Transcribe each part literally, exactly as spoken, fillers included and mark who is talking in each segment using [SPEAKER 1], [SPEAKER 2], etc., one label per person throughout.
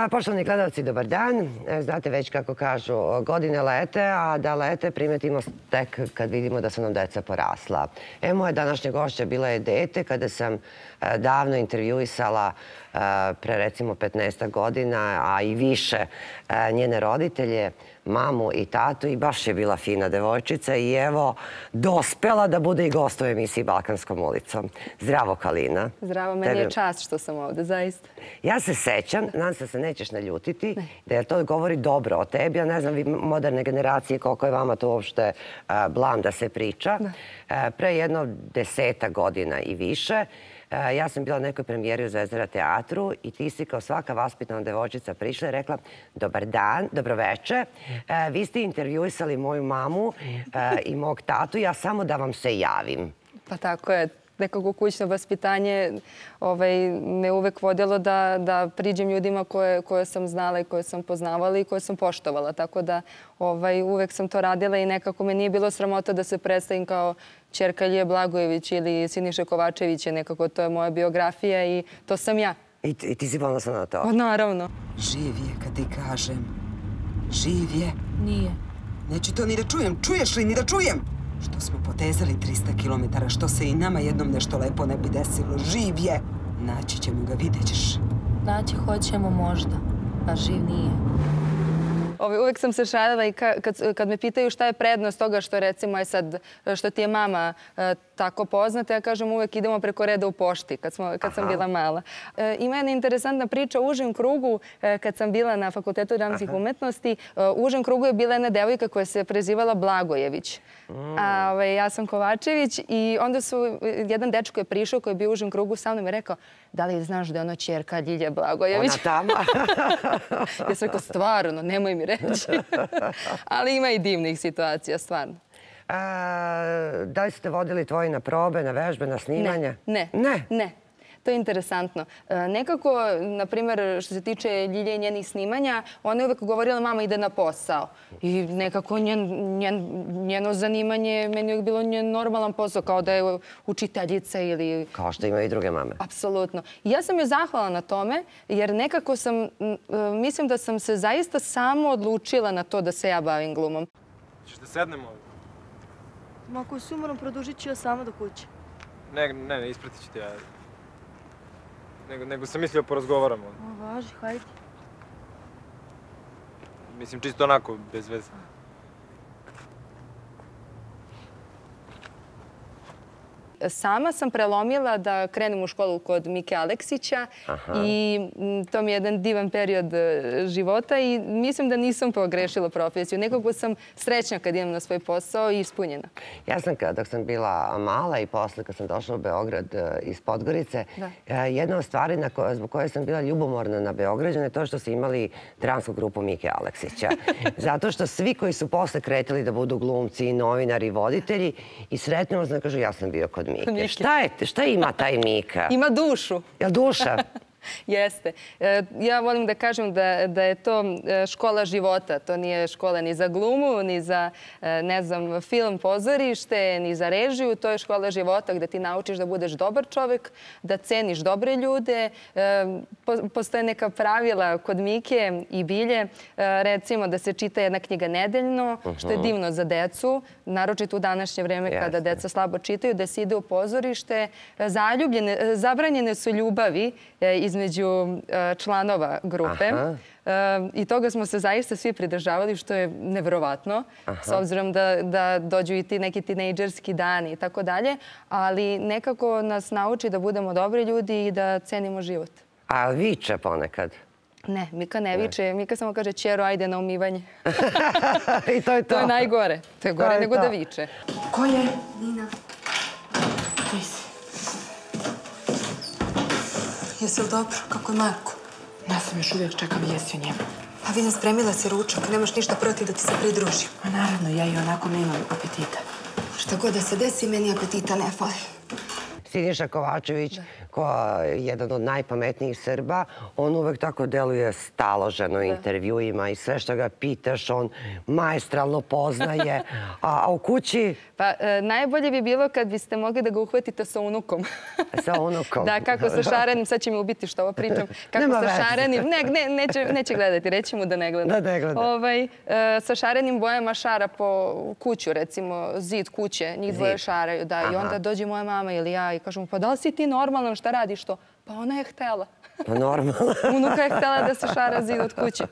[SPEAKER 1] Poštovani gledalci, dobar dan. Znate već kako kažu, godine lete, a da lete primetimo tek kad vidimo da su nam deca porasla. E, moja današnja gošća bila je dete kada sam davno intervjuisala pre recimo petnaestak godina, a i više, njene roditelje, mamu i tatu, i baš je bila fina devojčica i evo, dospela da bude i gost u emisiji Balkanskom ulicom. Zdravo, Kalina.
[SPEAKER 2] Zdravo, meni je čast što sam ovde, zaista.
[SPEAKER 1] Ja se sećam, nadam se da se nećeš naljutiti, da to govori dobro o tebi, ja ne znam vi moderne generacije koliko je vama to uopšte blam da se priča. Pre jedno deseta godina i više, ja sam bila na nekoj premijeri u Zvezdara teatru i ti si kao svaka vaspitana devojčica prišla i rekla: dobar dan, dobroveče, vi ste intervjuisali moju mamu i mog tatu, ja samo da vam se javim.
[SPEAKER 2] Pa tako je. Nekako kućno vaspitanje me uvek vodilo da priđem ljudima koje sam znala i koje sam poznavala i koje sam poštovala. Tako da uvek sam to radila i nekako me nije bilo sramota da se predstavim kao ćerka Ilije Blagojević ili Siniše Kovačevića. Nekako to je moja biografija i to sam ja.
[SPEAKER 1] I ti si ponosna na to?
[SPEAKER 2] Pa naravno.
[SPEAKER 3] Živ je, kad ti kažem. Živ je.
[SPEAKER 2] Nije.
[SPEAKER 3] Neću to ni da čujem. Čuješ li ni da čujem? Što smo potezali trista kilometara, što se i nama jednom nešto lepo ne bi desilo. Živ je! Naći ćemo ga, vidjet ćeš.
[SPEAKER 4] Naći hoćemo možda, a živ nije.
[SPEAKER 2] Uvek sam se šalila i kad me pitaju šta je prednost toga što recimo sad, što ti je mama tako poznata, ja kažem uvek idemo preko reda u pošti kad sam bila mala. Ima jedna interesantna priča u užem krugu kad sam bila na Fakultetu dramskih umetnosti. U užem krugu je bila jedna devojka koja se prezivala Blagojević. Ja sam Kovačević i onda su, jedan dečko je prišao koji je bio u užem krugu sa mnom i rekao: da li znaš da je ono ćerka Ljilje Blagojević?
[SPEAKER 1] Ona tamo?
[SPEAKER 2] Ja sam rekao: stvarno, nemoj mi reći. Ali ima i divnih situacija, stvarno.
[SPEAKER 1] Da li ste vodili tvoji na probe, na vežbe, na snimanja?
[SPEAKER 2] Ne. Ne? Ne. To je interesantno. Nekako, na primjer, što se tiče Ljilje i njenih snimanja, ona je uvek govorila: mama ide na posao. I nekako njeno zanimanje, meni je bilo njen normalan posao, kao da je učiteljica ili...
[SPEAKER 1] Kao što imaju i druge mame.
[SPEAKER 2] Apsolutno. I ja sam joj zahvala na tome, jer nekako sam, mislim da sam se zaista samo odlučila na to da se ja bavim glumom.
[SPEAKER 5] Češ da sednemo ovdje?
[SPEAKER 6] Ma ako si umoran, produžit ću ja sama do kuće.
[SPEAKER 5] Ne, ne, ispratit ću te ja. Nego sam mislio porazgovaramo.
[SPEAKER 6] O, važi, hajde.
[SPEAKER 5] Mislim, čisto onako, bez veze.
[SPEAKER 2] Sama sam prelomila da krenem u školu kod Mike Aleksića i to mi je jedan divan period života i mislim da nisam pogrešila profesiju. Nekako sam srećna kad idem na svoj posao i ispunjena.
[SPEAKER 1] Ja sam, dok sam bila mala i posle kad sam došla u Beograd iz Podgorice, jedna od stvari zbog koje sam bila ljubomorna na Beograđane je to što su imali dramsku grupu Mike Aleksića. Zato što svi koji su posle kretali da budu glumci, novinari, voditelji i sretno znam, kažu: ja sam bio kod Mike. Šta ima taj Mika?
[SPEAKER 2] Ima dušu.
[SPEAKER 1] Jel duša?
[SPEAKER 2] Jeste. Ja volim da kažem da je to škola života. To nije škola ni za glumu, ni za, ne znam, film, pozorište, ni za režiju. To je škola života gde ti naučiš da budeš dobar čovek, da ceniš dobre ljude. Postoje neka pravila kod Mike i Bilje. Recimo da se čita jedna knjiga nedeljno, što je divno za decu, naročito u današnje vreme kada deca slabo čitaju, da se ide u pozorište. Zabranjene su ljubavi između članova grupe i toga smo se zaista svi pridržavali, što je neverovatno, s obzirom da dođu i ti neki tinejdžerski dani i tako dalje, ali nekako nas nauči da budemo dobri ljudi i da cenimo život.
[SPEAKER 1] A viče ponekad?
[SPEAKER 2] Ne, Mika ne viče. Mika samo kaže: ćero, ajde na umivanje.
[SPEAKER 1] I to je to?
[SPEAKER 2] To je najgore. To je gore nego da viče.
[SPEAKER 6] Ko je? Nina. Ti si. Jesi li dobro? Kako je Marko?
[SPEAKER 7] Ja sam još uvijek čekam vijesti o njemu.
[SPEAKER 6] Pa vidim, spremila si ručak. Nemaš ništa protiv da ti se pridružim.
[SPEAKER 7] A naravno, ja i onako nemam apetita.
[SPEAKER 6] Šta god da se desi, meni apetita ne fali.
[SPEAKER 1] Siniša Kovačević, kao jedan od najpametnijih Srba, on uvek tako deluje staloženo u intervjuima i sve što ga pitaš, on maestralno poznaje. A u kući?
[SPEAKER 2] Pa najbolje bi bilo kad biste mogli da ga uhvatite sa unukom.
[SPEAKER 1] Sa unukom?
[SPEAKER 2] Da, kako sa šarenim, sad će mi ubiti što ovo pričam. Kako sa šarenim, ne, neće gledati, reći mu da ne gleda.
[SPEAKER 1] Da ne gleda.
[SPEAKER 2] Sa šarenim bojama šara po kuću, recimo zid kuće, njih dvoje šaraju, da. I onda dođe moja mama ili ja i kažem, pa da li si ti normalan, šta radiš to? Pa ona je htela.
[SPEAKER 1] Pa normalno.
[SPEAKER 2] Unuka je htela da se šara zid od kuće.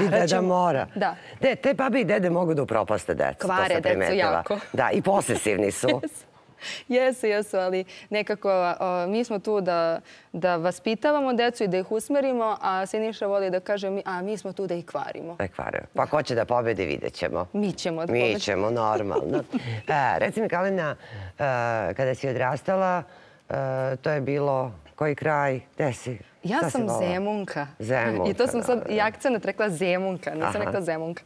[SPEAKER 1] I deda mora.
[SPEAKER 2] Da.
[SPEAKER 1] Te babi i dede mogu da upropaste decu.
[SPEAKER 2] Kvare decu jako.
[SPEAKER 1] Da, i posesivni su.
[SPEAKER 2] Jesu, jesu, ali nekako mi smo tu da vaspitavamo decu i da ih usmerimo, a Siniša voli da kaže, a mi smo tu da ih kvarimo.
[SPEAKER 1] Da ih kvarimo. Pa ko će da pobedi, vidjet ćemo.
[SPEAKER 2] Mi ćemo da pobedi.
[SPEAKER 1] Mi ćemo, normalno. Reci mi, Kalina, kada si odrastala, to je bilo koji kraj, gde si?
[SPEAKER 2] Ja sam Zemunka.
[SPEAKER 1] Zemunka.
[SPEAKER 2] I to sam sad i akcenat rekla Zemunka, nisam rekla Zemunka.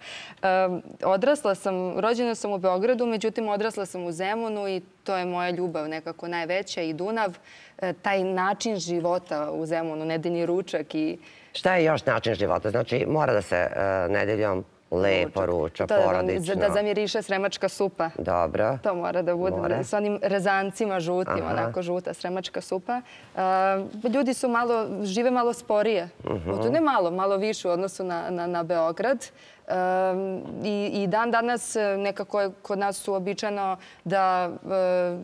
[SPEAKER 2] Odrasla sam, rođena sam u Beogradu, međutim odrasla sam u Zemunu i to je moja ljubav nekako najveća i Dunav. Taj način života u Zemunu, nedeljni ručak i...
[SPEAKER 1] Šta je još način života? Znači mora da se nedeljom lepo ruča, porodično.
[SPEAKER 2] Da zamiriše sremačka supa.
[SPEAKER 1] Dobro.
[SPEAKER 2] To mora da bude s onim rezancima žutim, onako žuta sremačka supa. Ljudi su malo, žive malo sporije. Ne malo, malo više u odnosu na Beograd. I dan danas nekako je kod nas uobičajeno da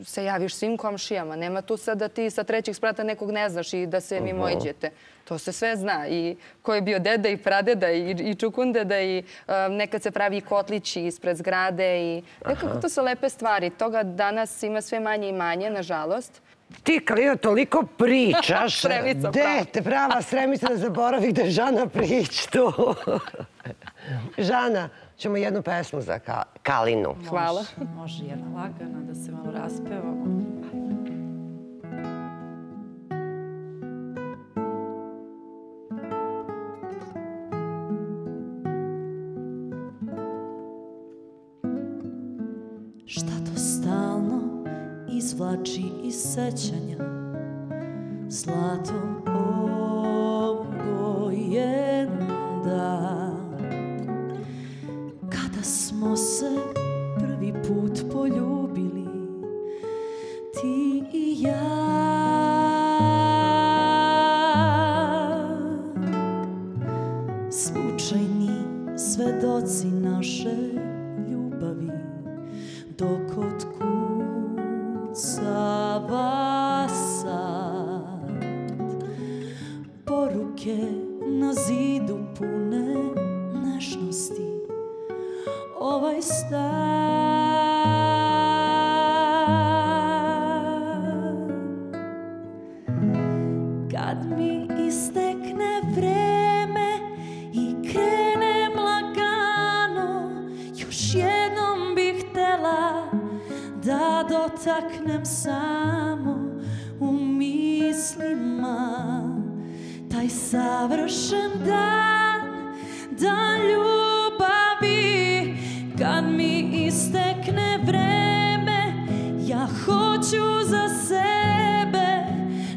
[SPEAKER 2] se javiš svim komšijama. Nema tu sad da ti sa trećeg sprata nekog ne znaš i da se mimoiđete. To se sve zna. I ko je bio deda i pradeda i čukundeda i nekad se pravi kotlići ispred zgrade i nekako to su lepe stvari. Toga danas ima sve manje i manje, nažalost.
[SPEAKER 1] Ti, Kalina, toliko pričaš.
[SPEAKER 2] Sremica, prava.
[SPEAKER 1] Dete, prava Sremica, da zaboravi da je Žana prič tu. Žana, ćemo jednu pesmu za Kalinu.
[SPEAKER 2] Hvala.
[SPEAKER 7] Može jedna lagana da se malo raspevamo.
[SPEAKER 8] Šta to stalno izvlači iz sećanja zlatom obojen dan, kada smo se prvi put poljubili ti i ja. Slučajni svedoci naše ljubavi dok otkucava sad, poruke na zidu pune nežnosti, ovaj stan. Kad mi istekne vreme i krenem lagano, još jednom bih htela da dotaknem samo u mislima taj savršen dan, dan ljubavi. Kad mi istekne vreme, ja hoću za sebe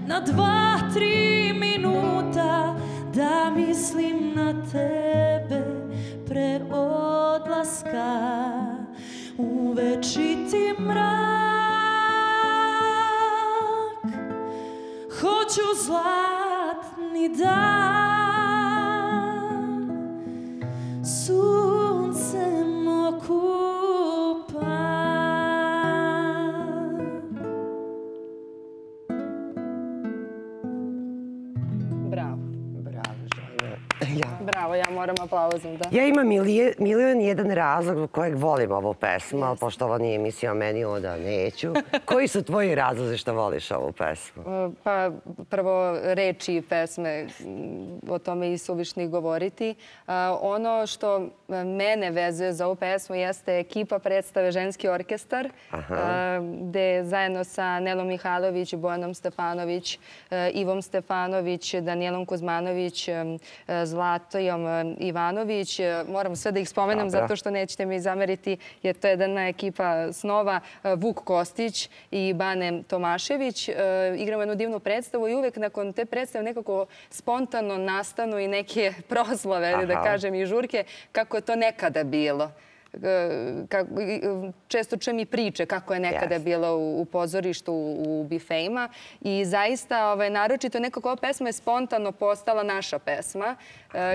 [SPEAKER 8] na dva, tri minuta da mislim na tebe pre odlaska u večiti mrak. Hoću zlatni dan, suncem okupan.
[SPEAKER 2] Bravo.
[SPEAKER 1] Bravo, Žana.
[SPEAKER 2] Bravo, ja moram aplauzom, da.
[SPEAKER 1] Ja imam milion jedan razlog zbog kojeg volim ovu pesmu, ali pošto ovo nije emisija o meni, onda neću. Koji su tvoji razlozi što voliš ovu pesmu?
[SPEAKER 2] Pa prvo reči pesme, o tome i suvišni govoriti. Ono što mene vezuje za ovu pesmu jeste ekipa predstave Ženski orkestar, gde zajedno sa Nelom Mihajlović, Bojanom Stefanović, Ivom Stefanović, Danijelom Kuzmanović, Zlatojom Ivanović. Moram sve da ih spomenem
[SPEAKER 1] Dobro.
[SPEAKER 2] zato što nećete mi zameriti jer to je jedna ekipa snova. Vuk Kostić i Bane Tomašević. Igramo jednu divnu predstavu i uvek nakon te predstave nekako spontano nastanu i neke proslave, da kažem, i žurke, kako je to nekada bilo. Često čujem i priče kako je nekada bilo u pozorištu, u bifejima i zaista naročito nekako ova pesma je spontano postala naša pesma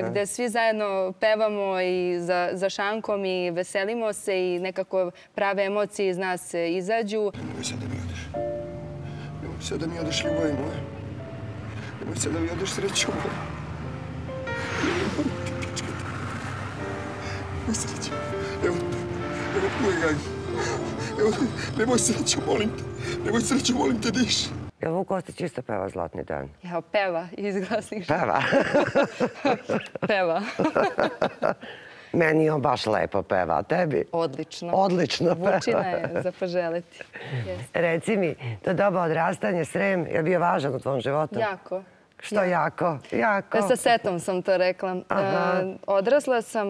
[SPEAKER 2] gde svi zajedno pevamo i za šankom i veselimo se i nekako prave emocije iz nas izađu.
[SPEAKER 9] Nemoj sad da mi odeš. Nemoj sad da mi odeš, ljubavi moja. Nemoj sad da mi odeš, sreću moja. Nemoj sreću. Evo, evo moj gaj. Evo, nemoj sreću, molim te. Nemoj sreću, molim te, diš.
[SPEAKER 1] Jel Vuk Kostić isto peva Zlatni dan?
[SPEAKER 2] Evo, peva iz glasnih žena.
[SPEAKER 1] Peva?
[SPEAKER 2] Peva.
[SPEAKER 1] Meni on baš lepo peva, a tebi?
[SPEAKER 2] Odlično.
[SPEAKER 1] Odlično peva.
[SPEAKER 2] Vučina je za poželiti.
[SPEAKER 1] Reci mi, to doba odrastanje, Srem, je bio važan u tvom životu?
[SPEAKER 2] Jako.
[SPEAKER 1] Što jako? Jako.
[SPEAKER 2] Sa setom sam to rekla. Odrasla sam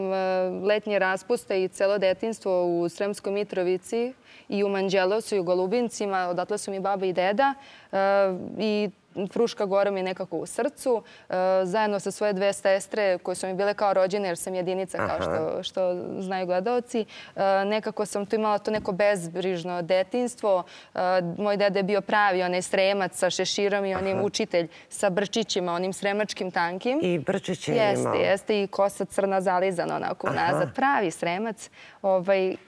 [SPEAKER 2] letnje raspuste i celo detinjstvo u Sremskoj Mitrovici i u Manđelovcu i u Golubincima. Odatle su mi baba i deda i Fruška Gora mi je nekako u srcu. Zajedno sa svoje dve sestre koje su mi bile kao rođene jer sam jedinica kao što znaju gledalci. Nekako sam tu imala to neko bezbrižno detinjstvo. Moj deda je bio pravi onaj Sremac sa šeširom i onim učitelj sa brčićima, onim sremačkim tankim.
[SPEAKER 1] I brčiće je imao.
[SPEAKER 2] Jeste, jeste i kosa crna zalizana onako nazad. Pravi Sremac.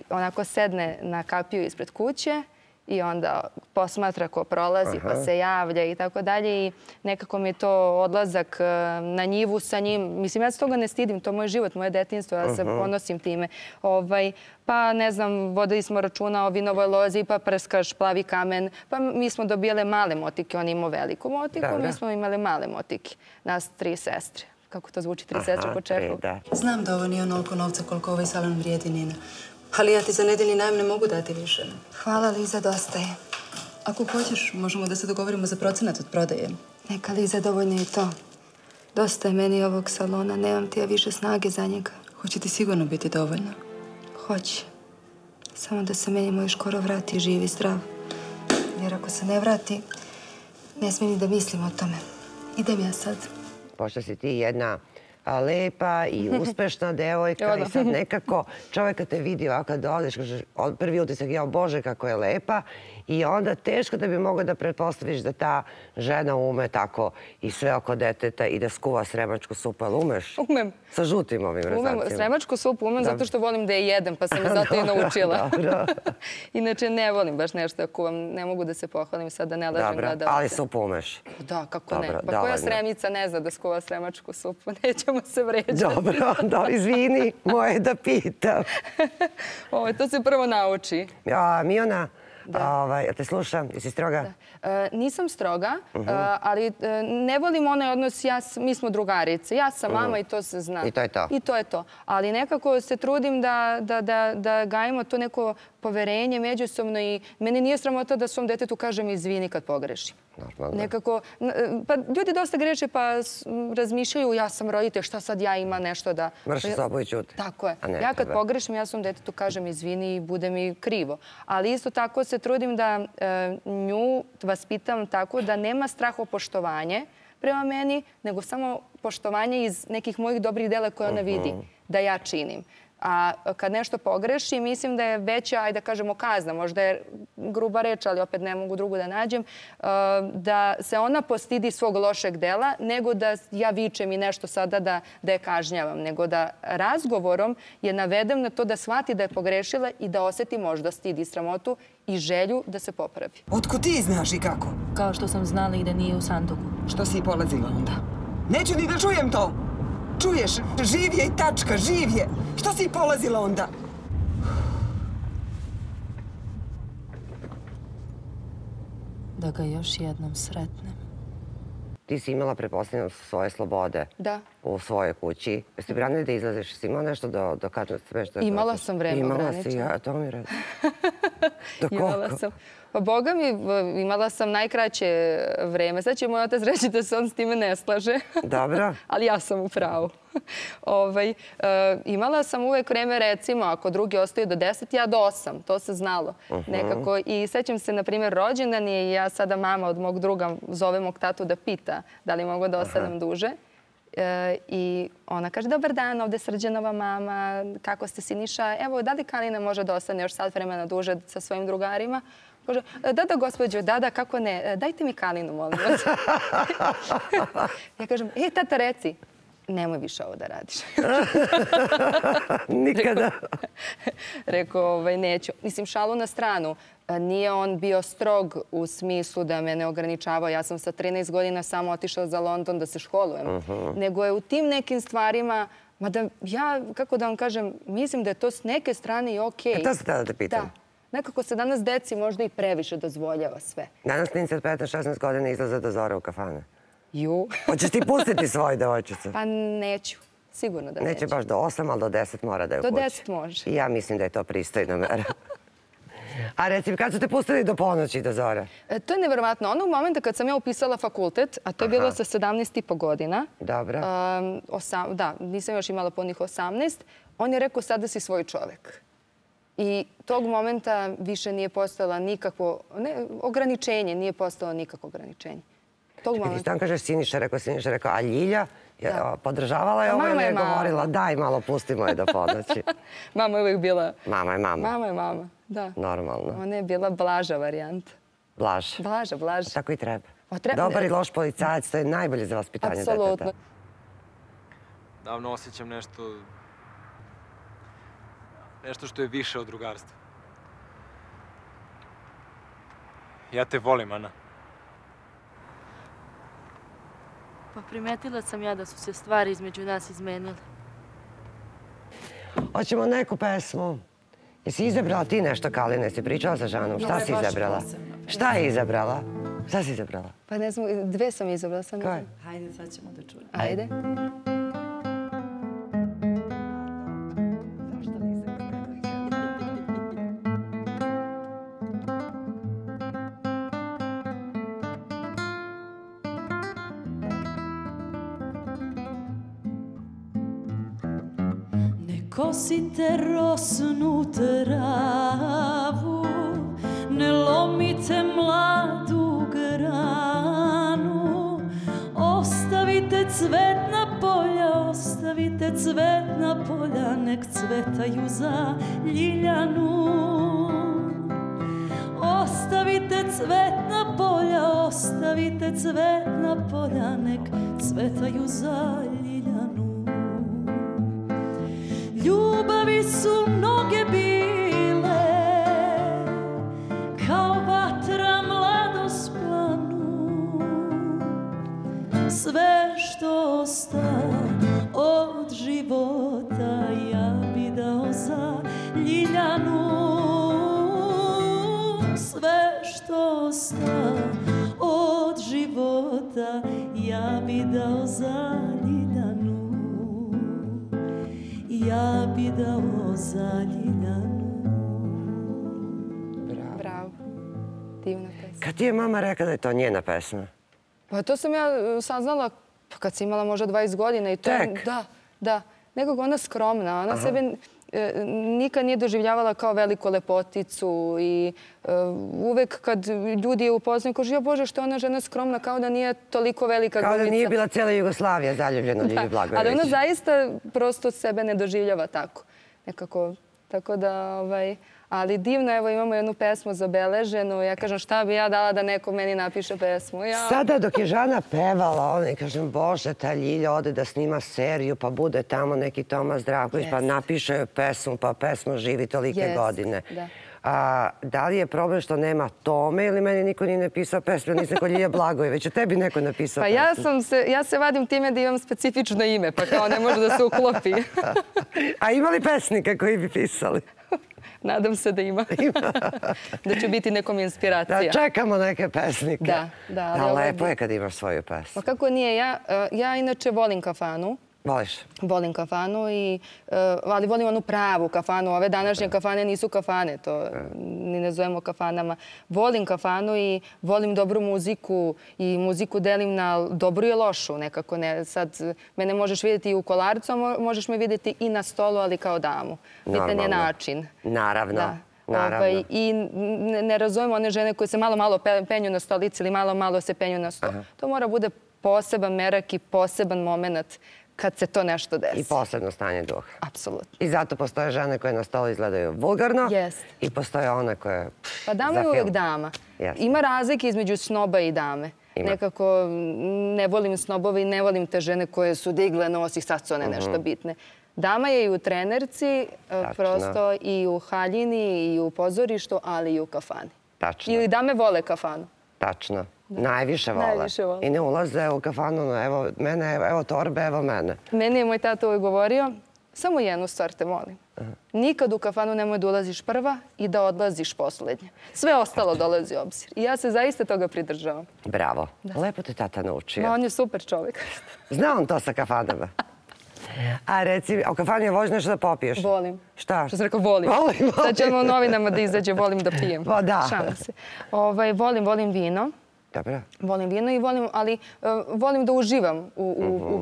[SPEAKER 2] Onako sedne na kapiju ispred kuće i onda posmatra ko prolazi, pa se javlja i tako dalje. I nekako mi je to odlazak na njivu sa njim. Mislim, ja se toga ne stidim, to je moj život, moje detinjstvo, ja se ponosim time. Pa, ne znam, vodili smo računa o vinovoj lozi, pa prskaš, plavi kamen. Pa mi smo dobijale male motike, on imao veliku motiku, mi smo imali male motike. Nas tri sestre. Kako to zvuči, tri sestre po čepu?
[SPEAKER 6] Znam da ovo nije onoliko novca koliko ovaj salon vrijedi, Nina. Ali ja ti za nedeljni najem ne mogu dati više.
[SPEAKER 2] Hvala, Liza, dosta je.
[SPEAKER 6] Ako hoćeš, možemo da se dogovorimo za procenat od prodaje.
[SPEAKER 2] Neka, Liza, dovoljno je to. Dosta je meni ovog salona, nemam ti ja više snage za njega.
[SPEAKER 6] Hoće ti sigurno biti dovoljno?
[SPEAKER 2] Hoće. Samo da se meni moj škoro vrati živ i zdrav. Jer ako se ne vrati, ne smijem ni da mislim o tome. Idem ja sad.
[SPEAKER 1] Pošto si ti jedna lepa i uspešna devojka i sad nekako čovjek kad te vidi ovako kad odeš, prvi utisak je, Bože, kako je lepa i onda teško da bi mogao da pretpostaviš da ta žena ume tako i sve oko deteta i da skuva sremačku supu. Ali umeš?
[SPEAKER 2] Umem.
[SPEAKER 1] Sa žutim ovim rezacima.
[SPEAKER 2] Umem. Sremačku supu umem zato što volim da je jedem, pa sam je zato i naučila.
[SPEAKER 1] Dobro.
[SPEAKER 2] Inače, ne volim baš nešto da kuvam. Ne mogu da se pohvalim sad da ne lažem gledalce.
[SPEAKER 1] Dobro, ali supu umeš?
[SPEAKER 2] Da, kako ne. Pa koja Sremica ne zna da skuva sremačku supu? Nećemo se vređati.
[SPEAKER 1] Dobro, da, izvini, moje da pitam.
[SPEAKER 2] To se prvo nauči.
[SPEAKER 1] Miona, ja te slušam, jesi stroga?
[SPEAKER 2] Nisam stroga, ali ne volim onaj odnos, mi smo drugarice. Ja sam mama i to se zna.
[SPEAKER 1] I to je to?
[SPEAKER 2] I to je to. Ali nekako se trudim da gajimo to neko poverenje međusobno i meni nije sramota da svom detetu kažem izvini kad pogrešim. Nekako, pa ljudi dosta greše pa razmišljaju ja sam roditelj, šta sad ja ima nešto da...
[SPEAKER 1] Mrši sobu i ćuti.
[SPEAKER 2] Tako je. Ja kad pogrešim, ja svom detetu kažem izvini i bude mi krivo. Ali isto tako se trudim da nju vaspitam tako da nema strahopoštovanje prema meni, nego samo poštovanje iz nekih mojih dobrih dela koje ona vidi da ja činim. A kad nešto pogreši, mislim da je veća, ajde da kažemo, kazna. Možda je gruba reč, ali opet ne mogu drugu da nađem. Da se ona postidi svog lošeg dela, nego da ja vičem i nešto sada da je kažnjavam. Nego da razgovorom je navedem na to da shvati da je pogrešila i da osjeti možda stid i sramotu i želju da se popravi.
[SPEAKER 3] Otkud ti znaš i kako?
[SPEAKER 4] Kao što sam znala i da nije u sanduku.
[SPEAKER 3] Što si i polazila onda? Neću ni da čujem to! Čuješ, živ je i tačka, živ je. Što si polazila onda?
[SPEAKER 4] Da ga još jednom sretnem.
[SPEAKER 1] Ti si imala, pretpostavljam, svoje slobode.
[SPEAKER 2] Da.
[SPEAKER 1] U svojoj kući. Jesi branili da izlaziš? Si imala nešto do kada smešta?
[SPEAKER 2] Imala sam vreme ograničeno.
[SPEAKER 1] Imala si, to mi redi. Do
[SPEAKER 2] koliko? Pa Boga mi, imala sam najkraće vreme. Sad će moj otac reći da se on s time ne slaže.
[SPEAKER 1] Dobro.
[SPEAKER 2] Ali ja sam u pravu. Ovaj, e, imala sam uvek vreme, recimo, ako drugi ostaju do deset, ja do osam. To se znalo. Nekako. I sećam se, na primjer, rođendan je i ja sada mama od mog druga zove mog tatu da pita da li mogu da ostanem duže. E, I ona kaže, dobar dan, ovde je Srđanova mama, kako ste Siniša? Evo, da li Kalina može da ostane još sat vremena duže sa svojim drugarima? Kaže, da, da, gospođo, da, da, kako ne, dajte mi Kalinu, molim vas. Ja kažem, e, tata, reci, nemoj više ovo da radiš.
[SPEAKER 1] Nikada.
[SPEAKER 2] Rekao, ovaj, neću. Mislim, šalu na stranu. Nije on bio strog u smislu da me ne ograničavao. Ja sam sa trinaest godina samo otišla za London da se školujem. Nego je u tim nekim stvarima, mada ja, kako da vam kažem, mislim da je to s neke strane i okej.
[SPEAKER 1] E to se tada te pitam.
[SPEAKER 2] Da. Nekako se danas deci možda i previše dozvoljava sve.
[SPEAKER 1] Danas klinci od petnaest šesnaest godina izlaze do zora u kafane.
[SPEAKER 2] Ju.
[SPEAKER 1] Hoćeš ti pustiti svoju devojčicu?
[SPEAKER 2] Pa neću. Sigurno da neću.
[SPEAKER 1] Neće baš do osam, ali do deset mora da je u kući.
[SPEAKER 2] Do deset može.
[SPEAKER 1] I ja mislim da je to pristojna mera. A reci mi, kad su te pustili do ponoći, do zora?
[SPEAKER 2] E, to je nevjerovatno. Onog momenta kad sam ja upisala fakultet, a to je bilo sa sedamnaest i po godina.
[SPEAKER 1] Dobro.
[SPEAKER 2] Um, osam, da, nisam još imala punih osamnaest. On je rekao, sada si svoj čovek. I tog momenta više nije postojala nikakvo, ne, ograničenje, nije postojalo nikakvo ograničenje. Tog
[SPEAKER 1] Čekaj,
[SPEAKER 2] momenta...
[SPEAKER 1] ti stan kažeš Siniša, rekao Siniša, rekao, a Ljilja je,
[SPEAKER 2] Da.
[SPEAKER 1] podržavala je ovo
[SPEAKER 2] Mama
[SPEAKER 1] ili
[SPEAKER 2] je
[SPEAKER 1] je
[SPEAKER 2] mama.
[SPEAKER 1] govorila, daj malo, pustimo je do ponoći.
[SPEAKER 2] Mama je uvijek bila...
[SPEAKER 1] Mama je mama.
[SPEAKER 2] Mama je mama, da.
[SPEAKER 1] Normalno.
[SPEAKER 2] Ona je bila blaža varijanta.
[SPEAKER 1] Blaž.
[SPEAKER 2] Blaža, blaža.
[SPEAKER 1] Tako i treba.
[SPEAKER 2] Pa treba-
[SPEAKER 1] Dobar i loš policajac, to je najbolje za vaspitanje deteta.
[SPEAKER 2] Apsolutno.
[SPEAKER 5] Davno osjećam nešto... Nešto što je više od drugarstva. Ja te volim, Ana.
[SPEAKER 8] Pa primetila sam ja da su se stvari između nas izmenile.
[SPEAKER 1] Hoćemo neku pesmu. Jesi izabrala ti nešto, Kalina? Jesi pričala sa Žanom? Šta si izabrala? Šta je izabrala? Šta si izabrala?
[SPEAKER 2] Pa ne znam, dve sam izabrala. Sam
[SPEAKER 1] Koje?
[SPEAKER 6] Hajde, sad ćemo da čujemo.
[SPEAKER 2] Ajde.
[SPEAKER 8] Kosite rosnu travu, ne lomite mladu granu, ostavite cvetna polja, ostavite cvetna polja, nek cvetaju za Ljiljanu. Ostavite cvetna polja, ostavite cvetna polja, nek cvetaju za Ljiljanu. Ljubavi su mnoge bile, kao vatra mladost planu. Sve što osta od života ja bi dao za Ljiljanu. Sve što osta od života ja bi dao za Ljiljanu. Ja bi dao za Ljiljanu.
[SPEAKER 2] Bravo. Divna pesma.
[SPEAKER 1] Kad ti je mama rekla da je to njena pesma?
[SPEAKER 2] Pa to sam ja saznala kad sam imala možda dvadeset godina. I to je,
[SPEAKER 1] Tek?
[SPEAKER 2] da, da. Nekako ona skromna. Ona sebe e, nikad nije doživljavala kao veliku lepoticu i e, uvek kad ljudi je upoznaju, kaže, ja Bože, što je ona žena skromna, kao da nije toliko velika
[SPEAKER 1] Kao
[SPEAKER 2] glumica.
[SPEAKER 1] da nije bila cijela Jugoslavija zaljubljena u Ljilju
[SPEAKER 2] Da,
[SPEAKER 1] Blagojević.
[SPEAKER 2] ali ona zaista prosto sebe ne doživljava tako. Nekako, tako da, ovaj, ali divno, evo imamo jednu pesmu zabeleženu. Ja kažem, šta bi ja dala da neko meni napiše pesmu? Ja...
[SPEAKER 1] Sada dok je Žana pevala, ona i kažem, Bože, ta Ljilja ode da snima seriju, pa bude tamo neki Tomas Zdravković, pa napiše joj pesmu, pa pesma živi tolike
[SPEAKER 2] Jest,
[SPEAKER 1] godine.
[SPEAKER 2] da.
[SPEAKER 1] A, da li je problem što nema Tome ili meni niko nije napisao pesmu? Nisam kod Ljilja Blagojević, a tebi neko napisao
[SPEAKER 2] Pa
[SPEAKER 1] pesmu?
[SPEAKER 2] ja, sam se, ja se vadim time da imam specifično ime, pa kao ne može da se uklopi.
[SPEAKER 1] A ima li pesnika koji bi pisali?
[SPEAKER 2] Nadam se da ima. Da će biti nekom inspiracija.
[SPEAKER 1] Da čekamo neke pesnike.
[SPEAKER 2] Da, da. ali
[SPEAKER 1] Da,
[SPEAKER 2] ovo
[SPEAKER 1] lepo
[SPEAKER 2] bi-
[SPEAKER 1] je kad imaš svoju pesmu.
[SPEAKER 2] Pa kako nije? Ja, ja inače volim kafanu.
[SPEAKER 1] Voliš?
[SPEAKER 2] Volim kafanu, i, ali volim onu pravu kafanu. Ove današnje kafane nisu kafane, to ni ne zovemo kafanama. Volim kafanu i volim dobru muziku i muziku delim na dobru i lošu. Nekako ne, sad mene možeš vidjeti i u kolarcu, a možeš me vidjeti i na stolu, ali kao damu. Bitan je način.
[SPEAKER 1] Naravno. Naravno.
[SPEAKER 2] I ne razumemo one žene koje se malo, malo penju na stolici ili malo, malo se penju na stol. To mora bude poseban merak i poseban moment kad se to nešto desi.
[SPEAKER 1] I posebno stanje duha.
[SPEAKER 2] Apsolutno.
[SPEAKER 1] I zato postoje žene koje na stolu izgledaju vulgarno i postoje one koje...
[SPEAKER 2] Pa dama je uvijek dama. Ima razlike između snoba i dame. Nekako ne volim snobove i ne volim te žene koje su digle nos i sad su one nešto bitne. Dama je i u trenerci, prosto i u haljini, i u pozorištu, ali i u kafani.
[SPEAKER 1] Tačno.
[SPEAKER 2] Ili dame vole kafanu.
[SPEAKER 1] Tačno. Najviše vole. I ne ulaze u kafanu, evo mene, evo torbe, evo mene.
[SPEAKER 2] Meni je moj tata uvijek govorio, samo jednu stvar te molim. Nikad u kafanu nemoj da ulaziš prva i da odlaziš poslednje. Sve ostalo dolazi u obzir. I ja se zaista toga pridržavam.
[SPEAKER 1] Bravo. Lepo te tata naučio.
[SPEAKER 2] On je super čovjek.
[SPEAKER 1] Zna on to sa kafanama. A reci, a u kafani voliš nešto da popiješ?
[SPEAKER 2] Volim.
[SPEAKER 1] Šta?
[SPEAKER 2] Što se rekao, volim.
[SPEAKER 1] Volim,
[SPEAKER 2] Sad ćemo u novinama da izađe, volim da pijem.
[SPEAKER 1] Pa da.
[SPEAKER 2] Šalim se. Volim, volim vino.
[SPEAKER 1] Dobro.
[SPEAKER 2] Volim vino i volim, ali volim da uživam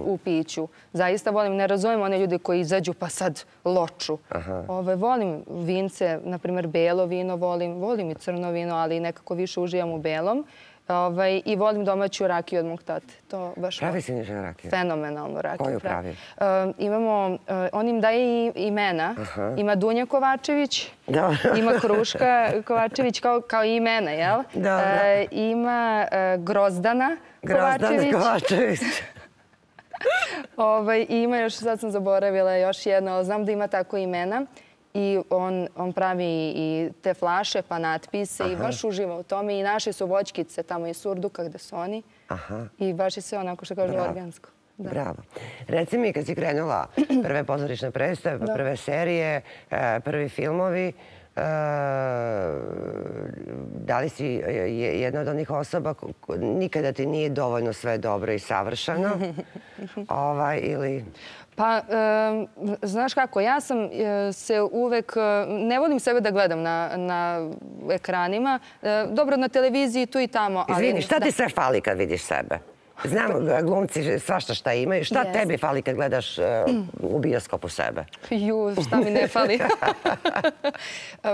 [SPEAKER 2] u piću. Zaista volim, ne razumijem one ljude koji izađu pa sad loču. Volim vince, na primjer belo vino volim, volim i crno vino, ali nekako više uživam u belom. I volim domaću rakiju od mog tate.
[SPEAKER 1] Pravi si niža rakiju?
[SPEAKER 2] Fenomenalnu rakiju.
[SPEAKER 1] Koju pravi?
[SPEAKER 2] Imamo, on im daje imena. Ima Dunja Kovačević, ima Kruška Kovačević kao imena, jel? Ima Grozdana Kovačević.
[SPEAKER 1] Grozdana Kovačević.
[SPEAKER 2] I ima još, sad sam zaboravila još jedno, ali znam da ima tako imena. I on pravi i te flaše, pa natpise i baš uživa u tome. I naše su voćkice tamo iz Surduka gde su oni. I baš je sve onako što kažu organsko.
[SPEAKER 1] Bravo. Reci mi, kad si krenula prve pozorišne predstave, prve serije, prvi filmovi, da li si jedna od onih osoba nikada ti nije dovoljno sve dobro i savršeno? Ili...
[SPEAKER 2] Pa, znaš kako, ja sam se uvek, ne volim sebe da gledam na ekranima, dobro na televiziji tu i tamo.
[SPEAKER 1] Izvini, šta ti sve fali kad vidiš sebe? Znam, glumci svašta šta imaju. Šta tebi fali kad gledaš u bioskopu sebe?
[SPEAKER 2] Ju, šta mi ne fali.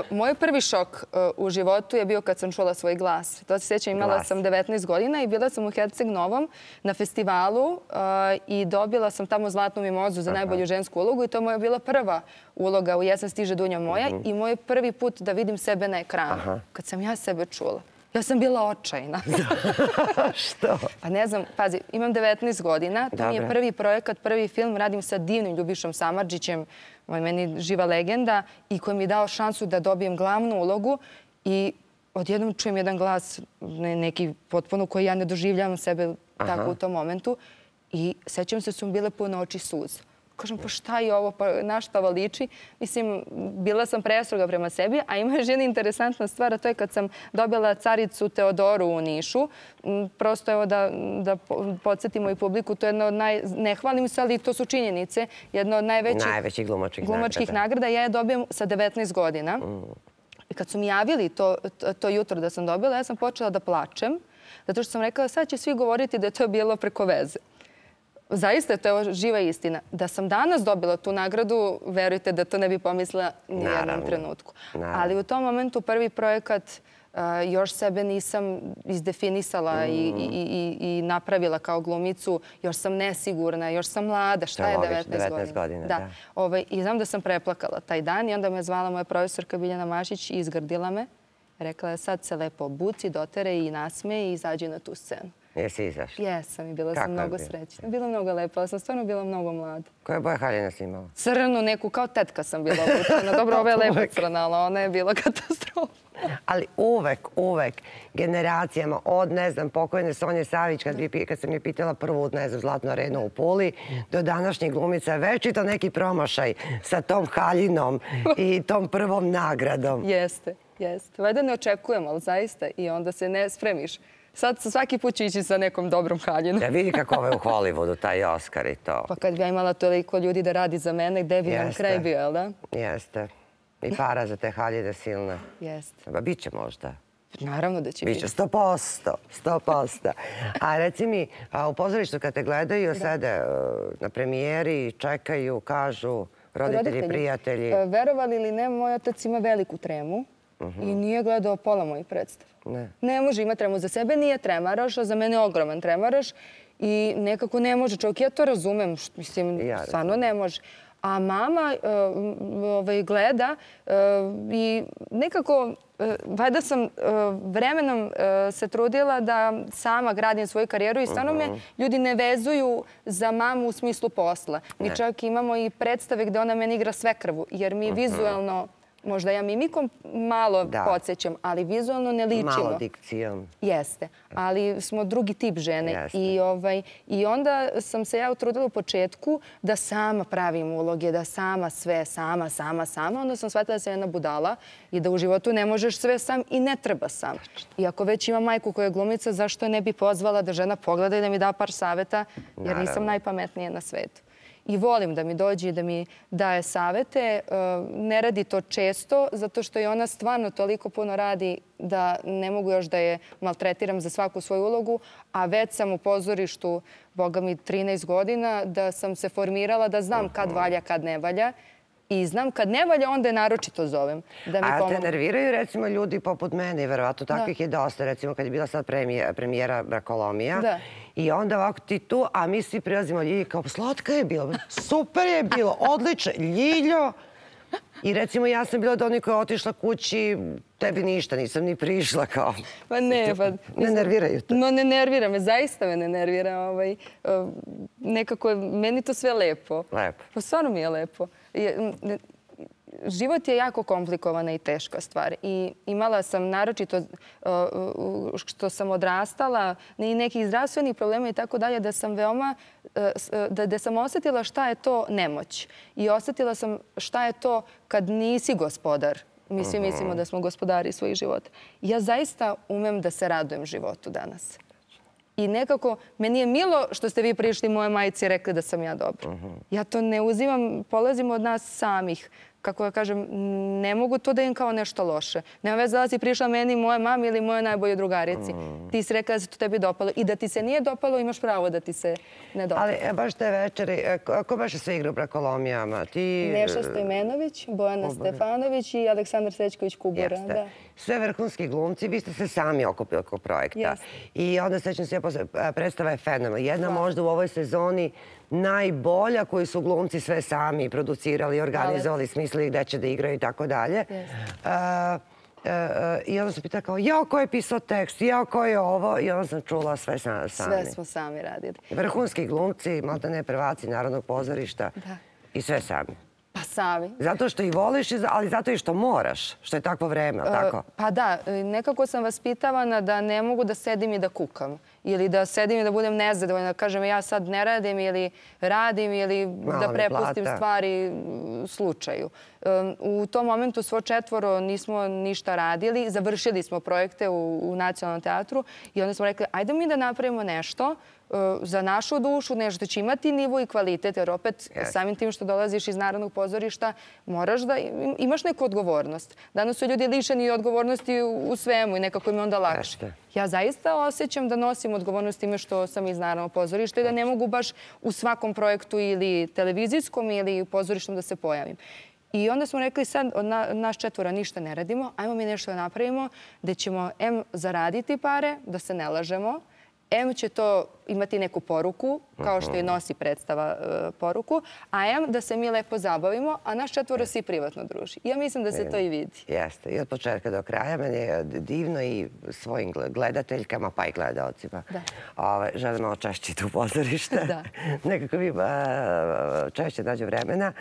[SPEAKER 2] Moj prvi šok u životu je bio kad sam čula svoj glas. To se sjećam, imala sam devetnaest godina i bila sam u Herceg Novom na festivalu i dobila sam tamo zlatnu mimozu za najbolju žensku ulogu i to moja bila prva uloga u Jesen stiže Dunja moja i moj prvi put da vidim sebe na ekranu. Kad sam ja sebe čula. Ja sam bila očajna.
[SPEAKER 1] Što?
[SPEAKER 2] Pa ne znam, pazi, imam devetnaest godina, to mi je prvi projekat, prvi film, radim sa divnim Ljubišom Samardžićem, meni živa legenda, i koji mi je dao šansu da dobijem glavnu ulogu i odjednom čujem jedan glas, neki potpuno koji ja ne doživljavam sebe tako u tom momentu i sećam se su mi bile pune oči suza. Kažem, pa šta je ovo, pa na šta ovo liči? Mislim, bila sam prestroga prema sebi, a ima još jedna interesantna stvar, a to je kad sam dobila caricu Teodoru u Nišu. Prosto evo da podsjetimo i publiku, to je jedna od naj... Ne hvalim se, ali to su činjenice. Jedna od najvećih glumačkih nagrada. Ja je dobijem sa devetnaest godina. I kad su mi javili to jutro da sam dobila, ja sam počela da plačem, zato što sam rekla, sad će svi govoriti da je to bilo preko veze. Zaista je to živa istina. Da sam danas dobila tu nagradu, verujte da to ne bi pomislila ni jednom trenutku. Ali u tom momentu prvi projekat još sebe nisam izdefinisala i napravila kao glumicu. Još sam nesigurna, još sam mlada. Šta je devetnaest godina? I znam da sam preplakala taj dan i onda me zvala moja profesorka Biljana Mašić i izgrdila me. Rekla je sad se lepo obuci, dotere i nasmeje i izađi na tu scenu.
[SPEAKER 1] Jesi izašla?
[SPEAKER 2] Jesam i bila sam mnogo srećna. Bila mnogo lepa, ali sam stvarno bila mnogo mlada.
[SPEAKER 1] Koje boje haljine si imala?
[SPEAKER 2] Crnu neku, kao tetka sam bila obučena. Dobro, ova je lepa crna, ali ona je bila katastrofa.
[SPEAKER 1] Ali uvek, uvek generacijama od, ne znam, pokojne Sonje Savić, kad sam je pitala prvu, ne znam, Zlatnu arenu u Puli, do današnjih glumica, večito neki promašaj sa tom haljinom i tom prvom nagradom.
[SPEAKER 2] Jeste, jeste. Vajda ne očekujemo, ali zaista, i onda se ne spremiš sad svaki put ću ići sa nekom dobrom haljinom.
[SPEAKER 1] Ja vidi kako ovo je u Hollywoodu, taj Oscar i to.
[SPEAKER 2] Pa kad bi ja imala toliko ljudi da radi za mene, gde bi nam kraj bio, jel da?
[SPEAKER 1] Jeste. I para za te haljine silne.
[SPEAKER 2] Jeste.
[SPEAKER 1] Ba biće možda.
[SPEAKER 2] Naravno da će biti.
[SPEAKER 1] Biće, sto posto, sto posto. A reci mi, u pozorištu kad te gledaju, sede na premijeri, čekaju, kažu, roditelji, prijatelji.
[SPEAKER 2] Verovali ili ne, moj otac ima veliku tremu i nije gledao pola mojih predstava.
[SPEAKER 1] Ne.
[SPEAKER 2] Ne može, ima tremu za sebe, nije tremaraš, a za mene je ogroman tremaraš i nekako ne može čovjek. Ja to razumem, mislim, stvarno ne može. A mama gleda i nekako, valjda sam vremenom se trudila da sama gradim svoju karijeru i stvarno me ljudi ne vezuju za mamu u smislu posla. Mi čak imamo i predstave gde ona meni igra svekrvu, jer mi vizualno, možda ja mimikom malo podsjećam, ali vizualno ne ličimo.
[SPEAKER 1] Malo dikcijom.
[SPEAKER 2] Jeste, ali smo drugi tip žene. I onda sam se ja utrudila u početku da sama pravim uloge, da sama sve, sama, sama, sama. Onda sam shvatila da sam jedna budala i da u životu ne možeš sve sam i ne treba sam. I ako već ima majku koja je glumica, zašto ne bi pozvala da žena pogleda i da mi da par saveta, jer nisam najpametnija na svetu. I volim da mi dođe i da mi daje savete. Ne radi to često, zato što i ona stvarno toliko puno radi da ne mogu još da je maltretiram za svaku svoju ulogu, a već sam u pozorištu, boga mi, trinaest godina, da sam se formirala da znam kad valja, kad ne valja. I znam kad ne valja, onda je naročito zovem.
[SPEAKER 1] A te nerviraju, recimo, ljudi poput mene, i verovatno takvih je dosta, recimo kad je bila sad premijera Brakolomija, i onda ovako ti tu, a mi svi prilazimo Ljilji kao, slatka je bilo, super je bilo, odlično, Ljiljo. I recimo ja sam bila od onih koja je otišla kući, tebi ništa, nisam ni prišla kao...
[SPEAKER 2] Pa ne, pa...
[SPEAKER 1] Ne nerviraju to?
[SPEAKER 2] No, ne nervira me, zaista me ne nervira. Nekako je meni to sve lepo.
[SPEAKER 1] Lepo.
[SPEAKER 2] Pa stvarno mi je lepo. Život je jako komplikovana i teška stvar. I imala sam naročito što sam odrastala i nekih zdravstvenih problema i tako dalje, da sam veoma, da sam osjetila šta je to nemoć. I osjetila sam šta je to kad nisi gospodar. Mi svi mislimo da smo gospodari svojih života. Ja zaista umem da se radujem životu danas. I nekako, meni je milo što ste vi prišli moje majici i rekli da sam ja dobra. Ja to ne uzimam, polazim od nas samih. Kako ja kažem, ne mogu to da im kao nešto loše. Nema veze da si prišla meni, moje mami ili moje najbolje drugarici. Ti si rekla da se to tebi dopalo. I da ti se nije dopalo, imaš pravo da ti se ne dopalo.
[SPEAKER 1] Ali baš te večeri, ko baš se igra u Brakolomijama?
[SPEAKER 2] Neša Stojmenović, Bojana Stefanović i Aleksandar Srećković-Kubura.
[SPEAKER 1] Sve vrhunski glumci, vi ste se sami okupili oko projekta. I onda sećam se, predstava je fenomenalna. Jedna možda u ovoj sezoni najbolja koju su glumci sve sami producirali, organizovali, smislili gde će da igraju i tako dalje. I onda sam pitala kao, jao, ko je pisao tekst, jao, ko je ovo? I onda sam čula sve sami.
[SPEAKER 2] Sve smo sami radili.
[SPEAKER 1] Vrhunski glumci, malta ne prvaci Narodnog pozorišta i sve sami.
[SPEAKER 2] Pa sami.
[SPEAKER 1] Zato što ih voliš, ali zato i što moraš, što je takvo vreme, ali tako?
[SPEAKER 2] Pa da, nekako sam vaspitavana da ne mogu da sedim i da kukam. Ili da sedim i da budem nezadovoljna, da kažem ja sad ne radim ili radim ili da prepustim stvari slučaju. U tom momentu svo četvoro nismo ništa radili, završili smo projekte u Nacionalnom teatru i onda smo rekli ajde mi da napravimo nešto za našu dušu, nešto će imati nivo i kvalitet, jer opet samim tim što dolaziš iz Narodnog pozorišta moraš da imaš neku odgovornost. Danas su ljudi lišeni odgovornosti u svemu i nekako im je onda lakše. Ja zaista osjećam da nosim odgovornost time što sam iz Narodnog pozorišta i da ne mogu baš u svakom projektu ili televizijskom ili pozorištom da se pojavim. I onda smo rekli sad od nas četvora ništa ne radimo, ajmo mi nešto da napravimo gde ćemo em zaraditi pare, da se ne lažemo, em će to imati neku poruku, kao što i nosi predstava poruku, a em da se mi lepo zabavimo, a naš četvoro se i privatno druži. Ja mislim da se to i vidi.
[SPEAKER 1] Jeste. I od početka do kraja meni je divno i svojim gledateljkama, pa i gledalcima. Želim malo češće tu pozorište. Nekako mi češće nađe vremena.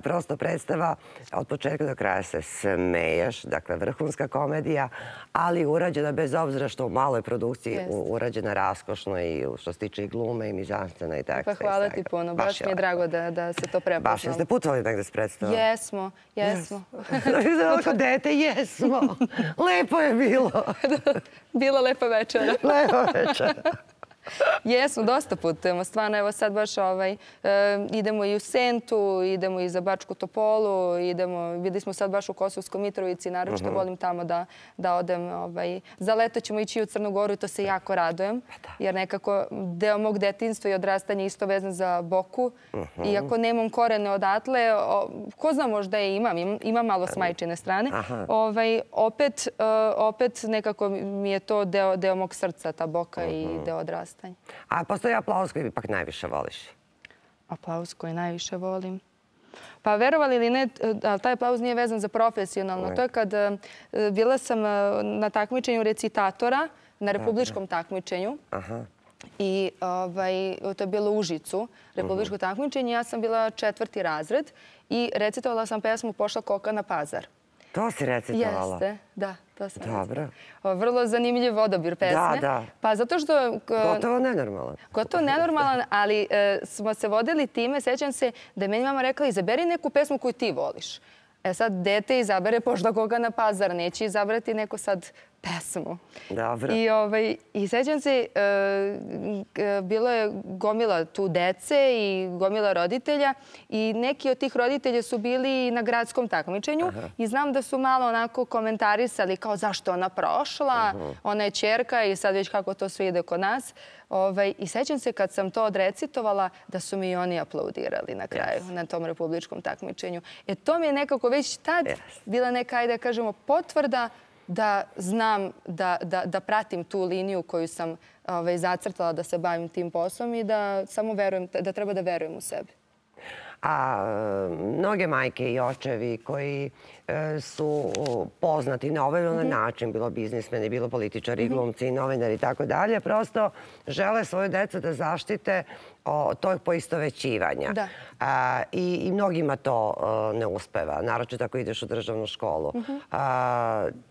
[SPEAKER 1] Prosto predstava od početka do kraja se smeješ, dakle vrhunska komedija, ali urađena bez obzira što u maloj produkciji urađena raskošno i što se tiče i glume i mizanstena i teksta.
[SPEAKER 2] Pa hvala ti puno, baš mi je drago da se to prepoznalo.
[SPEAKER 1] Baš, jeste putovali negde s predstavom?
[SPEAKER 2] Jesmo, jesmo.
[SPEAKER 1] Kao dete, jesmo. Lepo je bilo.
[SPEAKER 2] Bila lepa večera.
[SPEAKER 1] Lepa večera.
[SPEAKER 2] Jesmo, dosta putujemo. Stvarno, evo sad baš idemo i u Sentu, idemo i za Bačku Topolu, idemo, videli smo sad baš u Kosovskoj Mitrovici, naročito volim tamo da odem. Za leto ćemo ići u Crnu Goru i to se jako radujem, jer nekako deo mog detinjstva i odrastanja isto vezan za Boku. Iako nemam korene odatle, ko zna, možda je imam, imam malo s majčine strane, opet nekako mi je to deo mog srca, ta Boka i deo odrastanja.
[SPEAKER 1] A postoji aplauz koji ipak najviše voliš?
[SPEAKER 2] Aplauz koji najviše volim? Pa verovali ili ne, ali taj aplauz nije vezan za profesionalno. To je kad bila sam na takmičenju recitatora, na republičkom takmičenju. I to je bilo u Užicu, republičko takmičenje. Ja sam bila četvrti razred i recitovala sam pesmu Pošla koka na pazar.
[SPEAKER 1] To si recitovala?
[SPEAKER 2] Jeste, da.
[SPEAKER 1] Dobro.
[SPEAKER 2] Vrlo zanimljiv odabir pesme.
[SPEAKER 1] Da, da.
[SPEAKER 2] Pa zato što...
[SPEAKER 1] Gotovo nenormalan.
[SPEAKER 2] Gotovo nenormalan, ali smo se vodili time. Sećam se da je meni mama rekla izaberi neku pesmu koju ti voliš. E sad, dete izabere Pošla koga na pazar. Neće izabrati neku sad pesmu.
[SPEAKER 1] Dobro.
[SPEAKER 2] I sećam se, bilo je gomila tu dece i gomila roditelja i neki od tih roditelja su bili na gradskom takmičenju i znam da su malo onako komentarisali kao zašto ona prošla, ona je ćerka i sad već kako to sve ide kod nas. I sećam se kad sam to odrecitovala da su mi i oni aplaudirali na kraju na tom republičkom takmičenju. E to mi je nekako već tad bila neka, ajde da kažemo, potvrda da znam da pratim tu liniju koju sam zacrtala da se bavim tim poslom i da samo verujem, da treba da verujem u sebe.
[SPEAKER 1] A mnoge majke i očevi koji su poznati na ovaj ili onaj način, bilo biznismeni, bilo političari, glumci, novinari i tako dalje, prosto žele svoju decu da zaštite od tog poistovećivanja. I mnogima to ne uspeva, naročito ako ideš u državnu školu.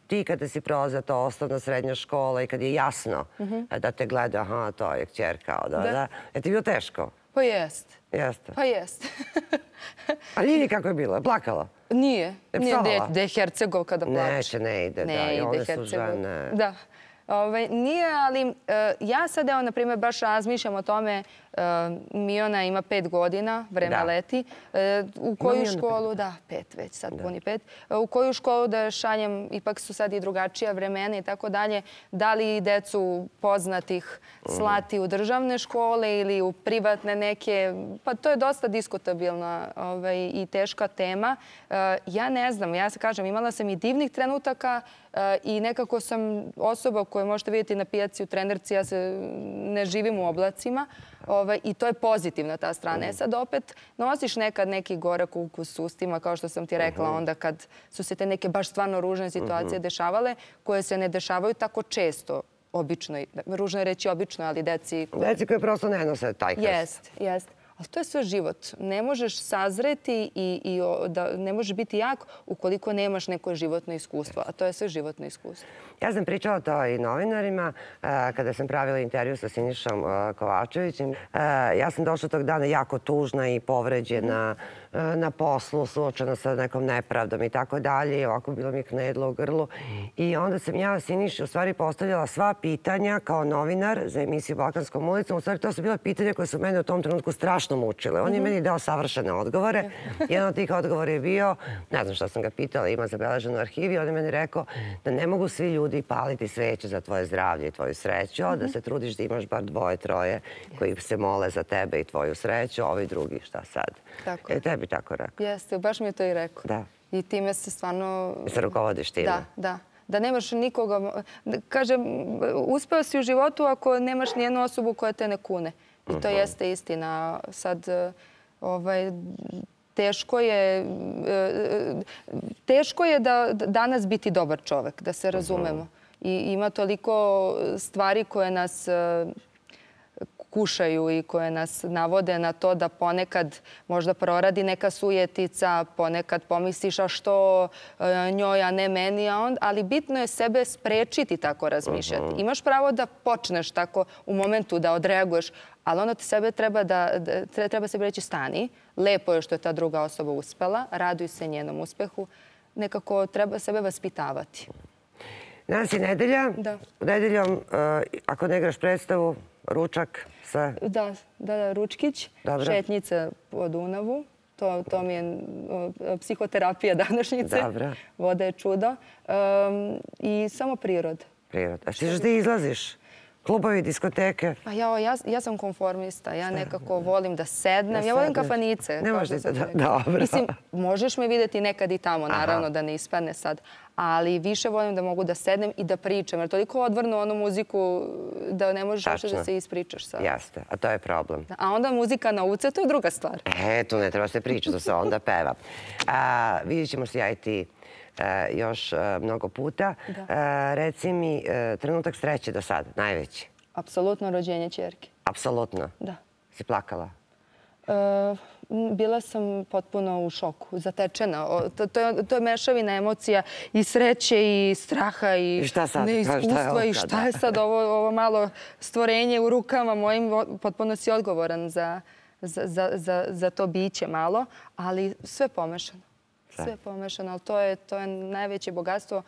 [SPEAKER 1] Ti kada si prolazila to osnovna, srednja škola i kad je jasno da te gleda, aha, to je kćerka, je ti bilo teško?
[SPEAKER 2] Pa jest.
[SPEAKER 1] Jeste?
[SPEAKER 2] Pa jest.
[SPEAKER 1] A nije ni kako je bilo? Je plakala?
[SPEAKER 2] Nije. Da je Hercegovka da plače.
[SPEAKER 1] Neće, ne ide, da.
[SPEAKER 2] Ne ide
[SPEAKER 1] Hercegovka.
[SPEAKER 2] Da. Nije, ali ja sad, evo, na primjer, baš razmišljam o tome. Miona ima pet godina, vreme leti. U koju školu, da, pet već, sad puni pet. U koju školu da šaljem, ipak su sad i drugačija vremena i tako dalje. Da li decu poznatih slati u državne škole ili u privatne neke? Pa to je dosta diskutabilna i teška tema. Ja ne znam, ja se kažem, imala sam i divnih trenutaka i nekako sam osoba koju možete vidjeti na pijaci u trenerci, ja se ne živim u oblacima i to je pozitivna ta strana. Sad opet nosiš nekad neki gorak ukus ustima, kao što sam ti rekla, onda kad su se te neke baš stvarno ružne situacije dešavale, koje se ne dešavaju tako često, obično, ružno je reći obično, ali deci...
[SPEAKER 1] Deci koje prosto ne nose taj krst.
[SPEAKER 2] Jest, jest. Ali to je sve život. Ne možeš sazreti i ne možeš biti jak ukoliko nemaš neko životno iskustvo. A to je sve životno iskustvo.
[SPEAKER 1] Ja sam pričala to i novinarima kada sam pravila intervju sa Sinišom Kovačevićem. Ja sam došla tog dana jako tužna i povređena na poslu, suočena sa nekom nepravdom i tako dalje. Ovako bilo mi knedlo u grlu. I onda sam ja Siniši u stvari postavljala sva pitanja kao novinar za emisiju Balkanskom ulicom. U stvari to su bila pitanja koje su mene u tom trenutku strašno mučile. On je meni dao savršene odgovore. Jedan od tih odgovora je bio, ne znam šta sam ga pitala, ima zabeleženo u arhivi, on je meni rekao da ne mogu svi ljudi paliti sveće za tvoje zdravlje i tvoju sreću, da se trudiš da imaš bar dvoje, troje koji se mole za tebe i tvoju sreću, a ovi drugi šta sad. E, tebi tako rekao.
[SPEAKER 2] Jeste, baš mi je to i rekao.
[SPEAKER 1] Da.
[SPEAKER 2] I time se stvarno...
[SPEAKER 1] I se rukovodiš time.
[SPEAKER 2] Da, da. Da nemaš nikoga... Kažem, uspeo si u životu ako nemaš nijednu osobu koja te ne kune. I to jeste istina. Sad, teško je... Teško je da danas biti dobar čovek, da se razumemo. I ima toliko stvari koje nas kušaju i koje nas navode na to da ponekad možda proradi neka sujetica, ponekad pomisliš a što njoj, a ne meni, ali bitno je sebe sprečiti tako razmišljati. Imaš pravo da počneš tako u momentu da odreaguješ, ali onda sebe treba da, treba sebi reći stani, lepo je što je ta druga osoba uspela, raduj se njenom uspehu, nekako treba sebe vaspitavati.
[SPEAKER 1] Danas je nedelja.
[SPEAKER 2] Da.
[SPEAKER 1] Nedeljom, ako ne igraš predstavu, ručak sa...
[SPEAKER 2] Da, da, ručkić, šetnjica po Dunavu. To, to mi je psihoterapija današnjice.
[SPEAKER 1] Dobro.
[SPEAKER 2] Voda je čudo. Um, I samo prirod.
[SPEAKER 1] Prirod. A što ćeš da izlaziš? Klubovi, diskoteke?
[SPEAKER 2] Pa ja, ja, ja sam konformista. Ja nekako volim da sednem. Ja volim kafanice.
[SPEAKER 1] Ne možeš da... Dobro.
[SPEAKER 2] Mislim, možeš me vidjeti nekad i tamo, naravno, da ne ispadne sad. Ali više volim da mogu da sednem i da pričam. Jer toliko odvrnu onu muziku da ne možeš uopšte da se ispričaš sad.
[SPEAKER 1] Jeste, a to je problem.
[SPEAKER 2] A onda muzika na uce, to je druga stvar.
[SPEAKER 1] E, tu ne treba se pričati, to se onda peva. Vidjet ćemo se ja i ti još mnogo puta. Reci mi, trenutak sreće do sada, najveći?
[SPEAKER 2] Apsolutno rođenje ćerke.
[SPEAKER 1] Apsolutno?
[SPEAKER 2] Da.
[SPEAKER 1] Si plakala?
[SPEAKER 2] Bila sam potpuno u šoku, zatečena. To je mešavina emocija i sreće i straha i neiskustva i šta je sad ovo malo stvorenje u rukama mojim. Potpuno si odgovoran za to biće malo, ali sve pomešano. Sve je pomešano, ali to je najveće bogatstvo.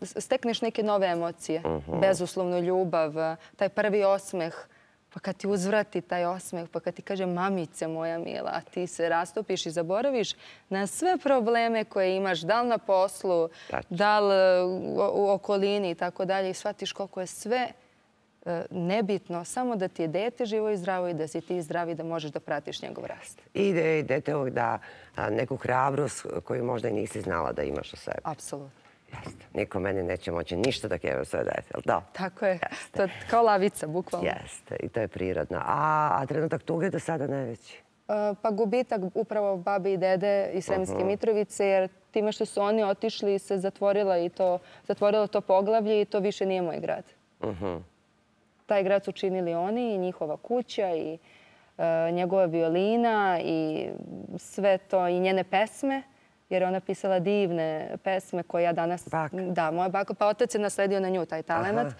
[SPEAKER 2] Stekneš neke nove emocije, bezuslovnu ljubav, taj prvi osmeh, pa kad ti uzvrati taj osmeh, pa kad ti kaže mamice moja mila, a ti se rastopiš i zaboraviš na sve probleme koje imaš, da li na poslu, da li u okolini i tako dalje, i shvatiš koliko je sve nebitno, samo da ti je dete živo i zdravo i da si ti zdravi, da možeš da pratiš njegov rast.
[SPEAKER 1] I dete ovog da neku hrabrost koju možda i nisi znala da imaš u sebi.
[SPEAKER 2] Apsolutno.
[SPEAKER 1] Jeste. Niko meni neće moći ništa da keva svoje dete, ali da?
[SPEAKER 2] Tako je. To je kao lavica, bukvalno.
[SPEAKER 1] Jeste. I to je prirodno. A trenutak tuge do sada najveći?
[SPEAKER 2] Pa gubitak upravo babi i dede iz Sremske Mitrovice, jer time što su oni otišli se zatvorilo to poglavlje i to više nije moj grad. Taj grad su činili oni i njihova kuća i njegova violina i sve to i njene pesme, jer je ona pisala divne pesme koje ja danas... Da, moja baka, pa otac je nasledio na nju taj talent.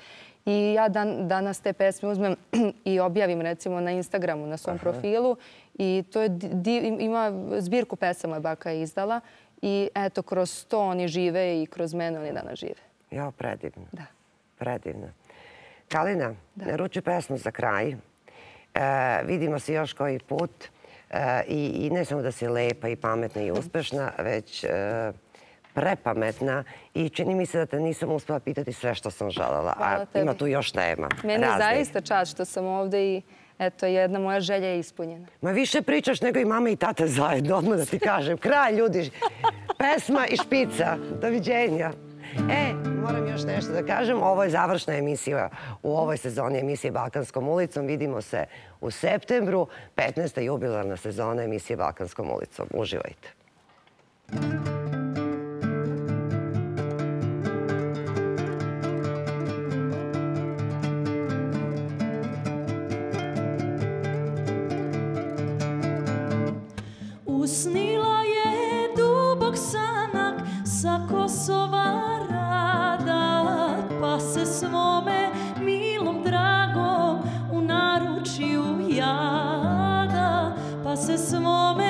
[SPEAKER 2] I ja danas te pesme uzmem i objavim recimo na Instagramu, na svom profilu. I to ima zbirku pesama moja baka je izdala. I eto, kroz to oni žive i kroz mene oni danas žive.
[SPEAKER 1] Jo, predivno.
[SPEAKER 2] Da.
[SPEAKER 1] Predivno. Kalina, naruči pesmu za kraj. Vidimo se još koji put. I ne samo da si lepa i pametna i uspešna, već prepametna. I čini mi se da te nisam uspela pitati sve što sam želela. A ima tu još tema.
[SPEAKER 2] Meni je zaista čast što sam ovde i eto, jedna moja želja je ispunjena.
[SPEAKER 1] Ma više pričaš nego i mama i tata zajedno, odmah da ti kažem. Kraj, ljudi. Pesma i špica. Doviđenja. E, moram još nešto da kažem. Ovo je završna emisija u ovoj sezoni emisije Balkanskom ulicom. Vidimo se u septembru, petnaesta jubilarna sezona emisije Balkanskom ulicom. Uživajte.
[SPEAKER 10] Usnila je dubok sanak sa Kosova rada, pa se svome milom dragom u naručju jada, pa se svome